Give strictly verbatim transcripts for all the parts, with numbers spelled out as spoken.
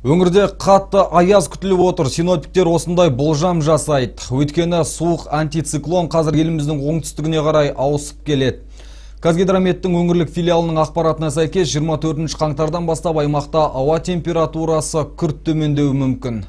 Өңірде қатты аяз күтіліп отыр. Синоптиктер осындай болжам жасайды. Өйткені суық антициклон қазір еліміздің оңтүстігіне қарай ауысып келеді. Қазгидрометтің өңірлік филиалының ақпаратына сәйкес жиырма төртінші қаңтардан бастап аймақта ауа температурасы күрт төмендеуі мүмкін.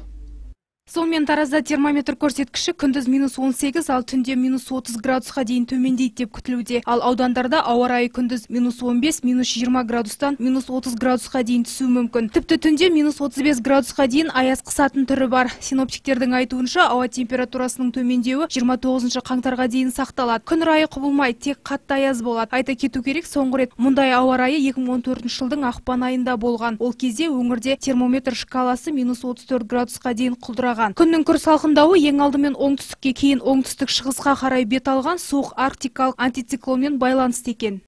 Сонымен Таразда термометр көрсеткіші күндіз минус он сегіз, ал түнде минус отыз градусқа дейін төмендейді деп күтілуде. Ал аудандарда ауа райы күндіз минус он бес, минус жиырма градустан минус отыз градусқа дейін түсуі мүмкін. Тіпті түнде минус отыз бес градусқа дейін аяз қысатын түрі бар. Синоптиктердің айтуынша ауа температурасының төмендеуі жиырма тоғызыншы қаңтарға дейін сақталады. Күн райы құбылмайды, тек қатты аяз болады. Айта кету керек, соңғы рет мұндай ауа райы екі мың он төртінші жылдың ақпан айында болған. Ол кезде өңірде термометр шкаласы минус отыз төрт градусқа дейін құлдыраған. Күннің күрт салқындауы ең алдымен оңтүстікке, кейін оңтүстік шығысқа қарай бет алған суық арктикалық антициклонмен байланысты екен.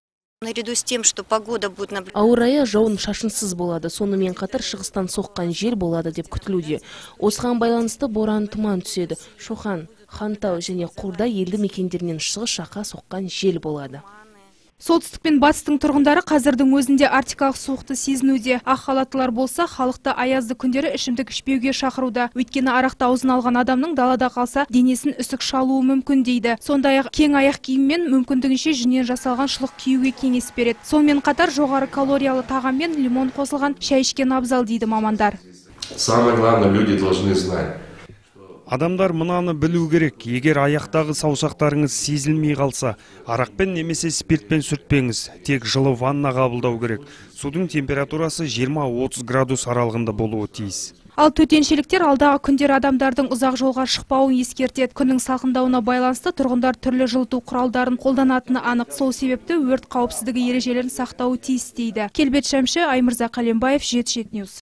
Наряду с тем, что погода будет ауа райы жауын шашынсыз болады, сонымен қатар шығыстан соққан жел болады деп күтілуде. Осыған байланысты боран тұман түседі. Шоқан, Хантау және Қордай елді мекендерінен шығыс жаққа соққан жел болады. Солтүстік пен батыстың тұрғындары қазірдің өзінде арктикалық суықты сезінуде. Ақ халаттылар болса, халықты аязды күндері ішімдік ішпеуге шақыруда. Өйткені арақты аузына алған адамның далада қалса, денесін үсік шалуы мүмкін дейді. Сондай-ақ кең аяқ киіммен мүмкіндігінше жүннен жасалған шұлық киюге кеңес береді. Сонымен қатар жоғары калориялы тағаммен лимон қосылған шай ішкен абзал дейді мамандар. Самое главное, люди должны знать. Адамдар мынаны білу керек. Егер аяқтағы саусақтарыңыз сезілмей қалса, арақпен немесе спиртпен сүртпеңіз. Тек жылы ванна қабылдау керек. Судың температурасы жиырма отыз градус аралығында болуы тиіс. Ал төтеншеліктер алдағы күндер адамдардың ұзақ жолға шықпауын ескертеді. Күннің салқындауына байланысты тұрғындар түрлі жылыту құралдарын қолданатыны анық. Сол себепті өрт қауіпсіздігі ережелерін сақтауы тиіс дейді. Келбет Шәмші, Аймырза Қалембаев, жеті жеті ньюс.